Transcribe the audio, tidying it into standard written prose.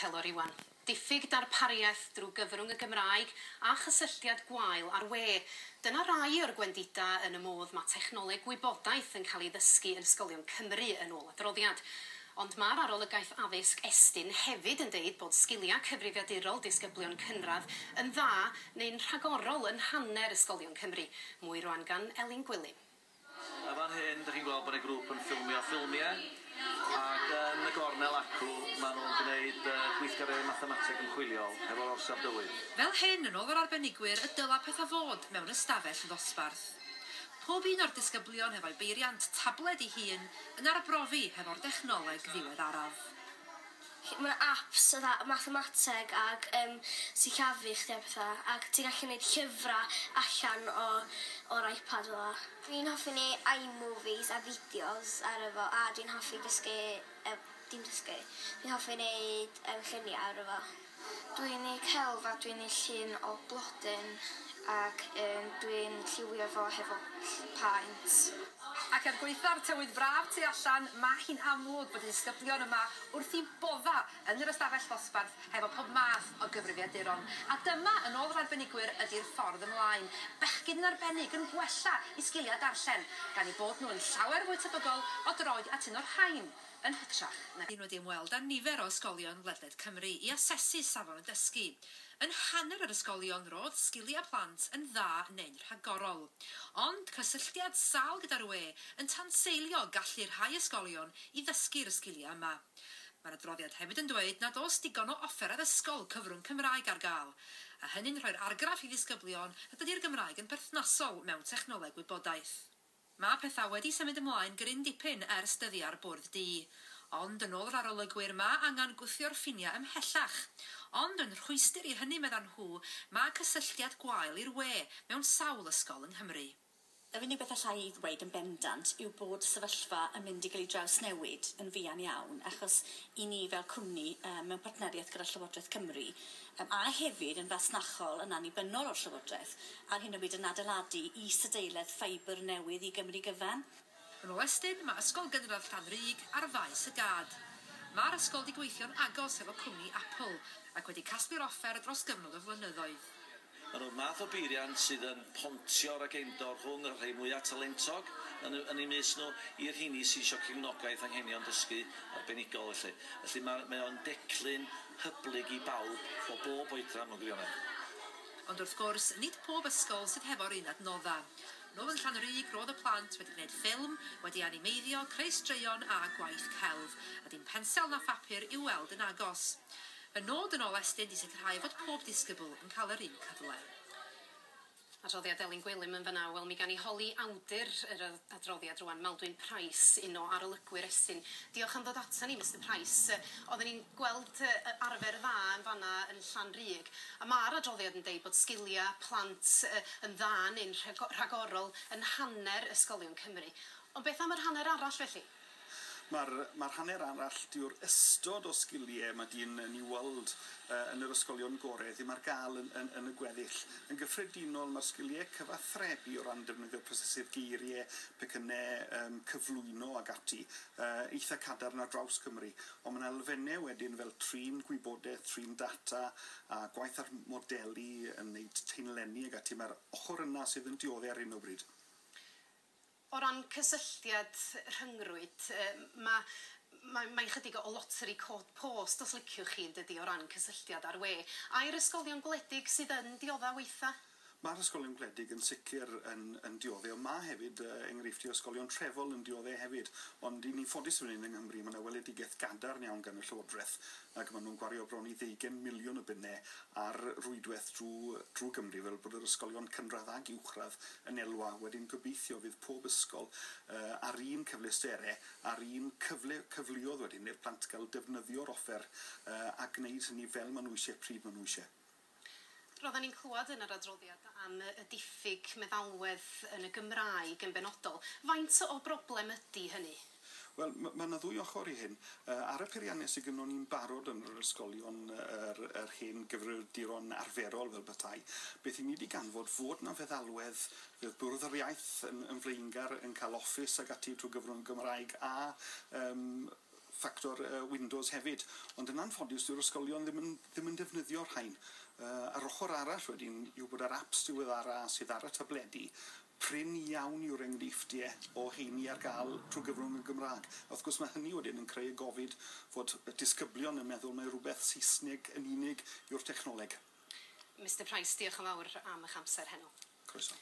Telor Iwan. Diffyg darpariaeth drwy gyfrwng y Gymraeg a chysylltiad gwael ar we. Dyna rai o'r gwendida yn y modd mae technoleg gwybodaeth yn cael ei ddysgu yn ysgolion Cymru yn ôl adroddiad. Ond mae'r arolygaeth addysg Estyn hefyd yn deud bod sgiliau cyfrifiadurol disgyblion cynradd yn dda neu'n rhagorol yn hanner ysgolion Cymru. Mwy rwan gan Elin Gwilym. A fan hyn, dych chi'n gweld bod y grŵp yn ffilmio ffilmiau, ac yn y gornel acw, maen nhw'n gwneud gweithgareddau mathemateg ymchwiliol hefo'r orsaf dywydd. Fel hyn, yn ôl yr arbenigwyr, y dyla pethau fod mewn ystafell ddosbarth. Pob un o'r disgyblion hefo'i beiriant tabled ei hun yn arbrofi hefo'r dechnoleg ddiweddaraf. Mae apps fatha mathemateg ag sillafu chdi a pethau, ac ti'n gallu gwneud llyfrau allan o'r iPad fel 'a. Dwi'n hoffi neud iMovies a fideos ar efo, a dwi'n hoffi dysgu, dim dysgu, dwi'n hoffi neud lluniau ar efo. Dwi'n neud celf a dwi'n neud llun o blodyn ac dwi'n lliwio fo hefo paent. Ac er gwaetha'r tywydd braf tu allan, mae hi'n amlwg bod y disgyblion yma wrth i bodda yn yr ystafell ddosbarth hefo pob math o gyfrifiaduron. A dyma, yn ôl yr arbenigwyr, ydy'r ffordd ymlaen. Bechgyn yn arbennig yn gwella i sgiliau darllen, gan eu bod nhw yn llawer fwy tebygol o droi at un o'r rhain yn hytrach na wedi ymweld â nifer o ysgolion ledled Cymru i asesu safon y dysgu. Yn hanner yr ysgolion roedd sgiliau plant yn dda neu'n rhagorol. Ond cysylltiad sâl gyda'r we yn tanseilio gallu rhai ysgolion i ddysgu'r sgiliau yma. Mae'r adroddiad hefyd yn dweud nad oes digon o offer addysgol cyfrwng Cymraeg ar gael, a hynny'n rhoi'r argraff i ddisgyblion nad ydy'r Gymraeg yn berthnasol mewn technoleg wybodaeth. Mae pethau wedi symud ymlaen gryn dipyn ers dyddiau'r bwrdd du. Ond yn ôl yr arolygwyr, mae angen gwthio'r ffiniau ymhellach. Ond yn rhwystr i hynny, meddan nhw, mae cysylltiad gwael i'r we mewn sawl ysgol yng Nghymru. Yr unig beth allai i ddweud yn bendant yw bod sefyllfa yn mynd i gael ei drawsnewid yn fuan iawn, achos i ni fel cwmni mewn partneriaeth gyda Llywodraeth Cymru a hefyd yn fasnachol yn annibynnol o'r Llywodraeth, ar hyn o bryd yn adeiladu isadeiledd ffeibr newydd i Gymru gyfan. Yn ôl Estyn, mae Ysgol Gynradd Llanrug ar faes y gad. Mae'r ysgol wedi gweithio'n agos efo cwmni Apple ac wedi casglu'r offer dros gyfnod o flynyddoedd. Maen nhw'r math o beiriant sydd yn pontio'r agendor rhwng y rhai mwyaf talentog yn eu mysg nhw i'r rheini sydd eisiau cefnogaeth anghenion dysgu arbenigol. Felly, felly mae o'n declyn hyblyg i bawb o bob oedran mewn gwirionedd. Ond wrth gwrs, nid pob ysgol sydd hefo'r un adnodda. Nôl yn Llanrug, roedd y plant wedi gwneud ffilm, wedi animeiddio, creu straeon a gwaith celf, a dim pensel na phapur i'w weld yn agos. Y nod yn ôl Estyn di sicrhau fod pob disgybl yn cael yr un cyfle. Adroddiad Elin Gwilym yn fanna. Wel, mi gan i holi awdur yr adroddiad rwan, Maldwyn Pryce, un o arolygwyr Estyn. Diolch am ddod ata ni, Mr Pryce. Oedden ni'n gweld arfer dda yn fanna yn Llanrug, a mae'r adroddiad yn deud bod sgiliau plant yn dda neu'n rhagorol yn hanner ysgolion Cymru. Ond beth am yr hanner arall felly? Mae'r hanner arall dyw'r ystod o sgiliau mae dyn yn ei weld yn yr ysgolion gorau ddim ar gael yn y gweddill. Yn gyffredinol, mae'r sgiliau cyfathrebu o ran defnyddio prosesydd geiriau, pecynnau cyflwyno ag ati, eitha cadarn ar draws Cymru. Ond mae'n elfennau wedyn fel trin gwybodaeth, trin data a gwaith ar modelu yn wneud taenlenni ag ati. Mae'r ochr yna sydd yn dioddef ar hyn o bryd. O ran cysylltiad rhyngrwyd, mae'n chydig o loteri cod post os liciwch chi, yn dydi, o ran cysylltiad ar we. Ai'r ysgolion gwledig sydd yn diodda weitha? Mae'r ysgolion gwledig yn sicr yn dioddef, ond mae hefyd enghreifftiau ysgolion trefol yn dioddef hefyd. Ond i ni'n ffodus fan hyn yng Nghymru, mae yna weledigaeth gadarn iawn gan y Llywodraeth, ac maen nhw'n gwario bron i 20 miliwn o bunnau ar rwydwaith drwy Gymru, fel bod yr ysgolion cynradd ag uwchradd yn elwa. Wedyn gobeithio fydd pob ysgol ar un cyfleusterau, ar un cyfleoedd wedyn i'r plant gael defnyddio'r offer a gwneud hynny fel maen nhw eisiau, pryd maen nhw eisiau. Roedden ni'n clywed yn yr adroddiad am y diffyg meddalwedd yn y Gymraeg yn benodol. Faint o broblem ydy hynny? Wel, mae yna ddwy ochr i hyn. Ar y peiriannau sydd gynnon ni'n barod yn yr ysgolion, yr hen gyfrifiaduron arferol fel petai, beth i ni wedi ganfod fod na feddalwedd, fydd Bwrdd yr Iaith yn flaengar yn cael Office ag ati trwy gyfrwng Gymraeg a ffactor Windows hefyd. Ond yn anffodus, dyw'r ysgolion ddim yn defnyddio'r rhain. A'r ochr arall wedyn yw bod yr apps diweddara sydd ar y tabledi, prin iawn yw'r enghreifftiau o heini ar gael trwy gyfrwng y Gymraeg. A wrth gwrs mae hynny wedyn yn creu y gofid fod y disgyblion yn meddwl mai rhywbeth Saesneg yn unig yw'r technoleg. Mr Price, diolch yn fawr am eich amser heno. Croeso.